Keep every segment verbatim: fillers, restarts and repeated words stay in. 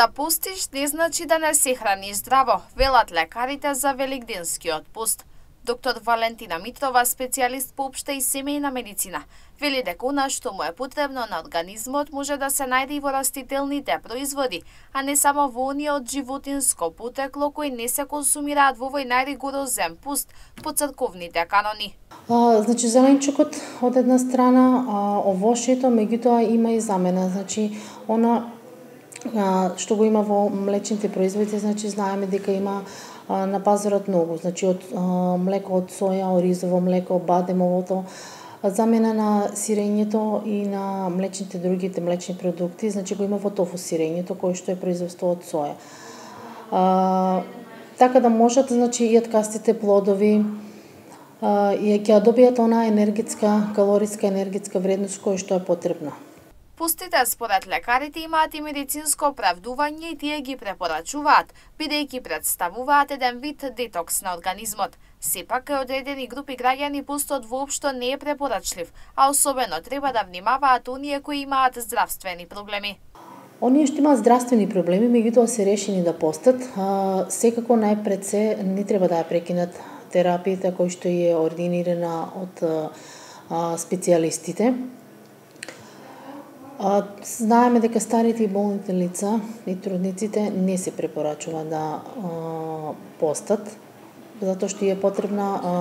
Да постиш не значи да не се храниш здраво, велат лекарите за великденскиот пост. Доктор Валентина Митрова, специјалист по општа и семејна медицина, вели дека она што му е потребно на организмот може да се најде и во растителните производи, а не само во оние од животинско потекло кои не се консумираат во овој најригорозен пост по црковните канони. А, значи зеленчукот од една страна, а, овошјето, меѓутоа има и замена. Значи она а, што го има во млечните производи, значи знаеме дека има а, на пазарот многу, значи од а, млеко од соја, оризово млеко, бадемовото, замена на сирењето и на млечните другите млечни продукти, значи го има во тофу сирењето кој што е производство од соја. А, така да можат, значи и ткастите плодови и ќе добијат она енергетска, калориска енергетска вредност која што е потребна. Постите според лекарите имаат и медицинско оправдување и тие ги препорачуваат, бидејќи представуваат еден вид детокс на организмот. Сепак, кај одредени групи граѓани постот воопшто не е препорачлив, а особено треба да внимаваат оние кои имаат здравствени проблеми. Оние што имаат здравствени проблеми, меѓутоа се решени да постат, а, секако најпред се не треба да ја прекинат терапијата кој што е ординирана од а, специјалистите. А, знаеме дека старите и болните лица и трудниците не се препорачува да а, постат, затоа што е потребна а,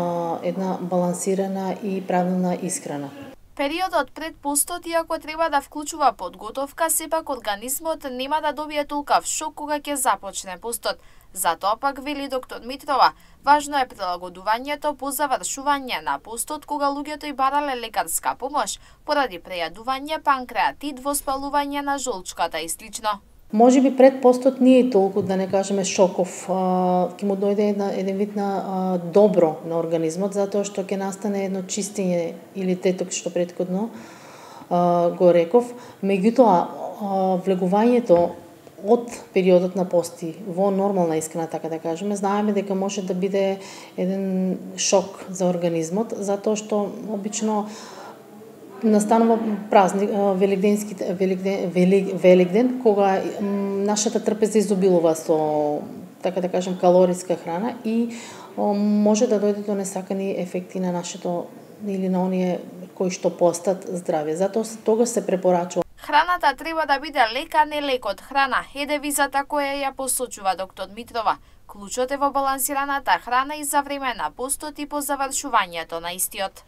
една балансирана и правилна исхрана. Периодот пред постот, иако треба да вклучува подготовка, сепак организмот нема да добие толкав шок кога ќе започне постот. Затоа пак, вели доктор Митрова, важно е прилагодувањето по завршување на постот кога луѓето и барале лекарска помош поради прејадување, панкреатит, воспалување на жолчката и слично. Може би пред постот не е толку, да не кажеме, шоков, ќе му дојде една, еден вид на а, добро на организмот, затоа што ќе настане едно чистење или детокс што претходно а, го реков. Меѓутоа, влегувањето од периодот на пости во нормална исхрана, така да кажеме, знаеме дека може да биде еден шок за организмот, затоа што обично настанува празник, великденски великден, велик, великден, кога нашата трпеза изобилува со, така да кажем, калориска храна и може да дојде до несакани ефекти на нашето или на оние кои што постат здравје. Затоа тогаш се препорачува. Храната треба да биде лека, не лекот храна, е девизата која ја посочува доктор Митрова. Клучот е во балансираната храна и за време на постот и по завршувањето на истиот.